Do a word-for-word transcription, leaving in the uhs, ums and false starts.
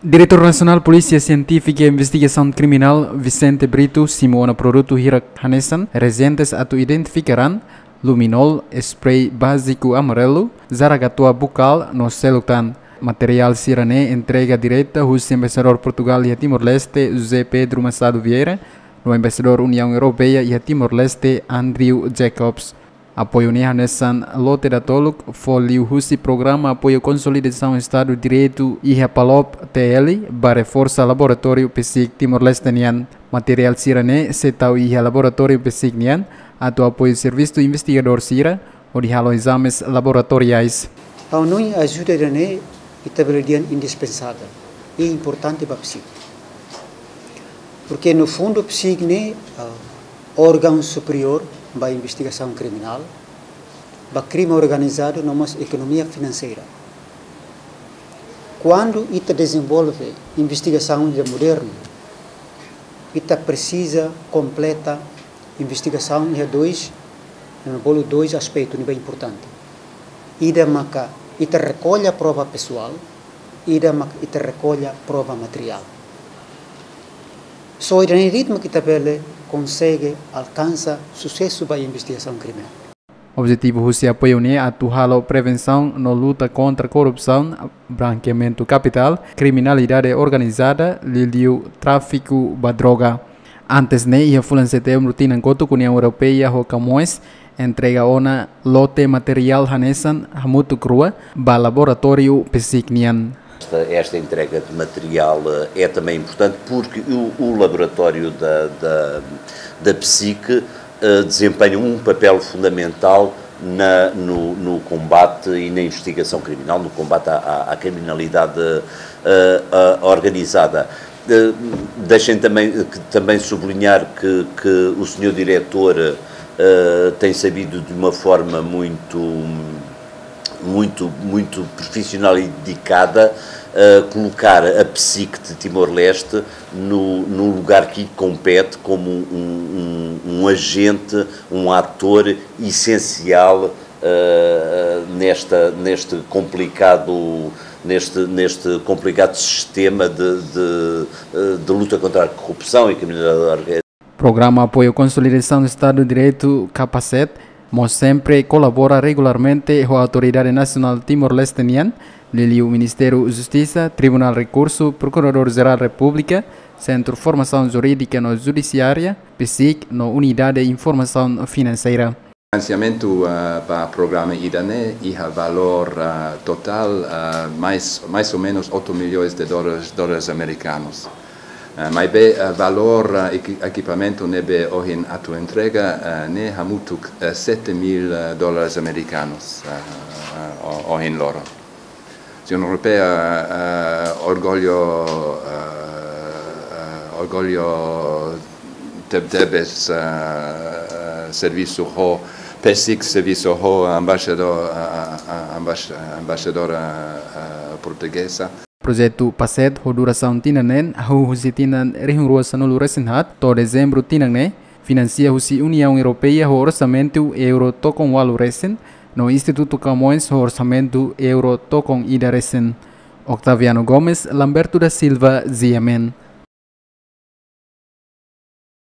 Diretór Nasionál Polísia Sientífika i Investigasaun Kriminál, Vicente Brito, simu ona produtu hirak hanesan reajentes atu identifika raan, luminol, spray báziku amarelu, jaragatoa bukál no seluk tan. Materiál sira-ne'e entrega direta husi Embaixadór Portugál iha Timor-Leste, José Pedro Machado Vieira, no Embaixadór Uniaun Europeia iha Timor-Leste, Andrew Jacobs. Apoiu ne'e hanesan lote datoluk fó liuhusi Programa Apoiu Konsolidasaun Estadu Direitu iha PALOP, T L, ba reforsa laboratóriu PSIC Timor-Leste nian. Materiál sira-ne'e sei tau iha laboratóriu PSIC nian atu apoiu servisu investigadór sira hodi halo ezames laboratoriais. Ha'u hanoin ajuda ida-ne'e ita bele dehan indispensável i importante ba PSIC. Porque no fundo PSIC ne'e, ah, órgaun superiór ba investigasaun kriminál, ba krime organizadu no mós ekonomia finanseira. Kuandu ita dezenvolve investigasaun ida modernu, ita presiza kompleta investigasaun iha dois, eh, bolu dois aspetu ne'ebé importante. Ida maka ita rekolla prova pesoál, ida maka ita rekolla prova materiál. Só ida-ne'e de'it mak ita bele konsege alkansa susesu ba investigasaun kriminál. Objetivu husi apoiu ne'e atu halo prevensaun no luta kontra korrupsaun, brankeamentu kapitál, kriminalidade organizada, liuliu tráfiku ba droga. Antes ne'e, iha fulan Setembru tinan kotuk, Uniaun Europeia ho Camões entrega ona lote materiál hanesan hamutuk rua ba laboratóriu PSIC nian. Esta, esta entrega de material, eh, é também importante porque o, o laboratório da, da, da PSIC, eh, desempenha um papel fundamental na, no, no combate e na investigação criminal, no combate à, à, à criminalidade, eh, eh, organizada. Eh, deixem também, que, também sublinhar que, que o senhor diretor, eh, tem sabido de uma forma muito, muito, muito profissional e dedicada, eh, colocar a PSIC de Timor-Leste no, no lugar que lhe compete como um, um, um agente, um ator essencial, eh, nesta, neste complicado, neste, neste complicado sistema de, de, eh, de luta contra a corrupção e criminalidade orga-. Programa Apoiu Konsolidasaun Estadu Direitu, Capacete, mós sempre kolabora regularmente ho Autoridade Nasionál Timor-Leste nian, liuliu Ministériu Justisa, Tribunál Rekursu, Prokuradór Jerál Repúblika, Sentru Formasaun Jurídika no Judisiária, PSIC, no Unidade Informasaun Finanseira. Finansiamentu, ah, ba programa ida-ne'e iha valór, ah, totál, ah, mais, mais ou menos oito milhões de dólares, dólares americanos. Ah, maibé, ah, valór, ah, equi-, ekipamentu ne'ebé ohin atu entrega, ah, ne'e hamutuk, ah, sete mil, ah, dólares americanos, ah, ah, o-, ohin loron. Uniaun Europeia, eh, orgullu, eh, eh, orgullu te-, tebes, eh, eh, servisu ho, PSIC servisu ho embaixadór, eh, eh, eh, embaix-, embaixadora, eh, eh, portugeza. Projetu PACET ho durasaun tinan neen, hahú husi tinan rihun rua sanulu resin haat to'o Dezembru tinan ne'e, finansia husi Uniaun Europeia ho orsamentu euro tokon ualu resin, no Institutu Camões ho orsamentu euro tokon ida resin. Octaviano Gomes, Lamberto da Silva, G M N.